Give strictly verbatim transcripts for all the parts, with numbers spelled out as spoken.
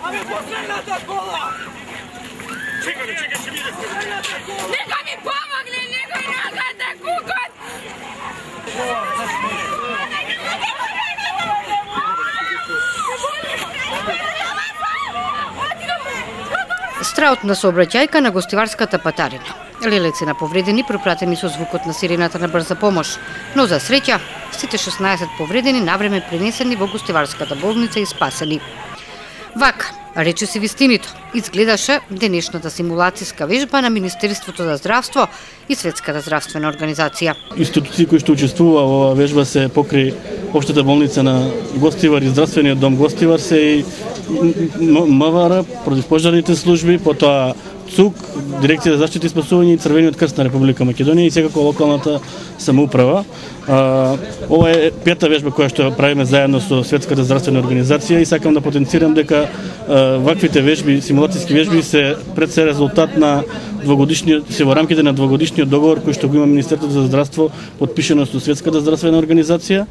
Ами последната кола! Чекай, чекай, ще видите! Нека ми помогне, некој нагата кукот! Страот на сообраќајка на гостиварската патарина. Лелеци на повредени пропратени со звукот на сирената на брза помош, но за среќа сите шеснаесет повредени навреме пренесени во гостиварската болница и спасени. Вака, рече си вистинито, изгледаше денешната симулацијска вежба на Министерството за здравство и Светската здравствена организација. Институции кои што учествува во оваа вежба се покри Општата болница на Гостивар и Здравствениот дом Гостивар, се и МВР, противпожарните служби, потоа ЦУК, Дирекција за заштита и спасување и Црвениот крст на Република Македонија и секако локалната самоуправа. Ова е пета вежба која што правиме заедно со Светската здравствена организација и сакам да потенцирам дека ваквите вежби, симулацијски вежби се пред се резултат на двогодишниот, се во рамките на двогодишниот договор кој што го има Министерството за здравство потпишано со Светската здравствена организација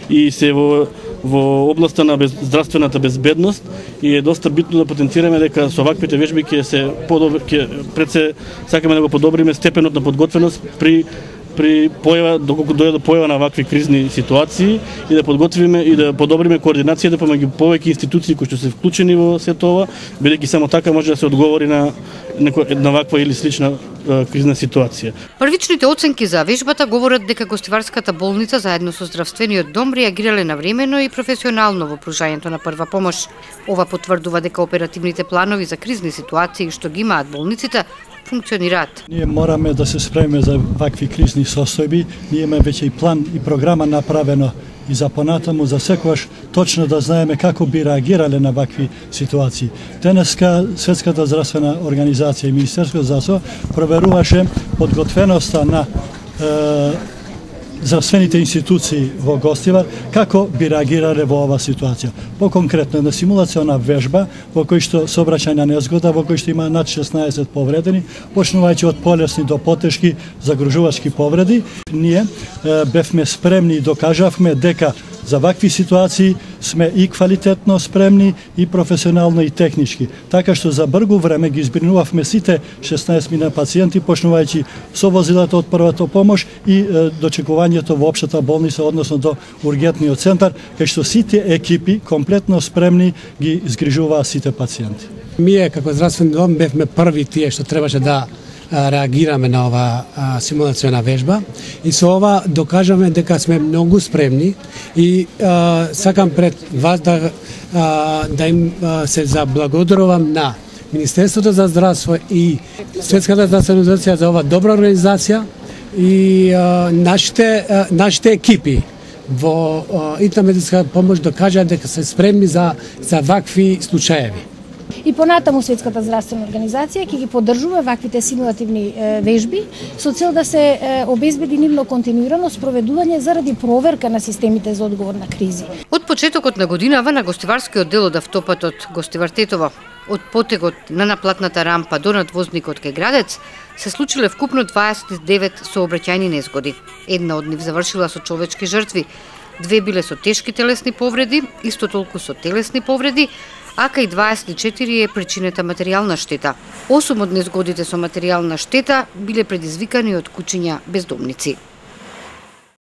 и се во во областа на без, здравствената безбедност и е доста битно да потенцираме дека со ваквите вежби ќе се подобри, ќе пред се сакаме да го подобриме степенот на подготвеност при при појава, доколку дојде до појава на вакви кризни ситуации и да подготвиме и да подобриме координацијата помеѓу повеќе институции кои што се вклучени во сето ова, бидејќи само така може да се одговори на на ваква или слична е, кризна ситуација. Првичните оценки за вежбата говорат дека Гостиварската болница заедно со Здравствениот дом реагирале навремено и професионално во пружањето на прва помош. Ова потврдува дека оперативните планови за кризни ситуации што ги имаат болниците функционираат. Ние мораме да се спремиме за вакви кризни состојби. Ние имаме веќе и план и програма направено и за понатаму, за секогаш точно да знаеме како би реагирале на вакви ситуации. Денеска Светската здравствена организација и Министерството за здравство проверуваше подготвеноста на е, здравствените институции во Гостивар како би реагирале во оваа ситуација. Поконкретно на симулациона вежба во кој што сообраќајна незгода, во кој што има над шеснаесет повредени, почнувајќи од полесни до потешки загружувачки повреди. Ние е, бевме спремни и докажавме дека за вакви ситуации сме и квалитетно спремни, и професионално, и технички. Така што за бргу време ги избринувавме сите шеснаесет мина пациенти, почнувајќи со возилата од првата помош и е, дочекувањето во општата болница, односно до ургентниот центар, кај што сите екипи комплетно спремни ги згрижуваа сите пациенти. Ние како здравствен дом бевме први тие што требаше да реагираме на ова симулациона вежба и со ова докажаме дека сме многу спремни и а, сакам пред вас да, а, да им а, се заблагодарувам на Министерството за здравство и Светската здравствена организација за ова добра организација и а, нашите, а, нашите екипи во итна медицинска помош докажаа дека се спремни за, за вакви случаеви. И понатаму Светската здравствена организација ќе ги поддржува ваквите симулативни е, вежби со цел да се е, обезбеди нивно континуирано спроведување заради проверка на системите за одговор на кризи. Од почетокот на годинава на гостиварскиот дел од автопатот Гостивар-Тетово, од потегот на наплатната рампа до надвозникот кај градец, се случиле вкупно дваесет и девет сообраќајни незгоди. Една од нив завршила со човечки жртви, две биле со тешки телесни повреди, исто толку со телесни повреди, а кај дваесет и четири е причинета материјална штета. осум од незгодите со материјална штета биле предизвикани од кучиња бездомници.